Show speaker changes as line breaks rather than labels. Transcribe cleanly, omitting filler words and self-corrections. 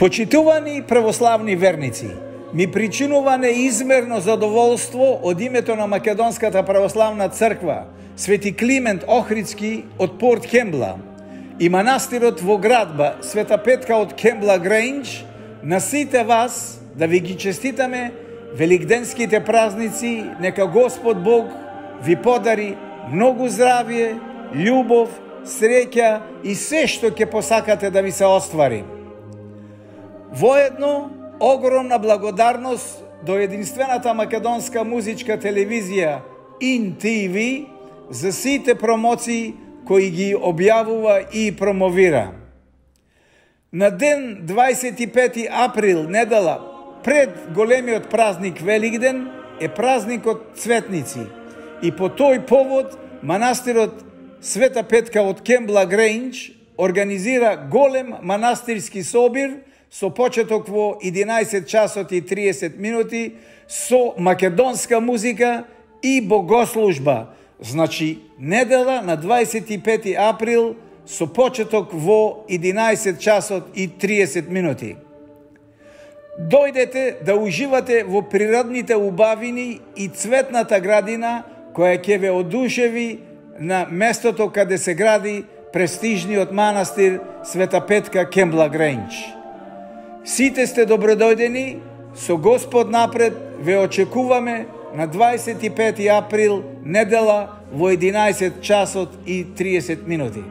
Почитувани православни верници, ми причинува неизмерно задоволство од името на Македонската православна црква Свети Климент Охридски од Порт Кембла и манастирот во градба Света Петка од Кембла Грейндж на сите вас да ви ги честитаме великденските празници. Нека Господ Бог ви подари многу здравје, љубов, среќа и се што ќе посакате да ви се оствари. Воедно, огромна благодарност до единствената македонска музичка телевизија IN-TV за сите промоции кои ги објавува и промовира. На ден 25 април, недела пред големиот празник Великден, е празникот Цветници и по тој повод манастирот Света Петка од Кембла Грейндж организира голем манастирски собир со почеток во 11 часот и 30 минути со македонска музика и богослужба. Значи, недела на 25 април со почеток во 11 часот и 30 минути. Дојдете да уживате во природните убавини и цветната градина која ќе ве одушеви на местото каде се гради престижниот манастир Света Петка Кембла Грейндж. Сите сте добродојдени, со Господ напред ве очекуваме на 25 април, недела во 11 часот и 30 минути.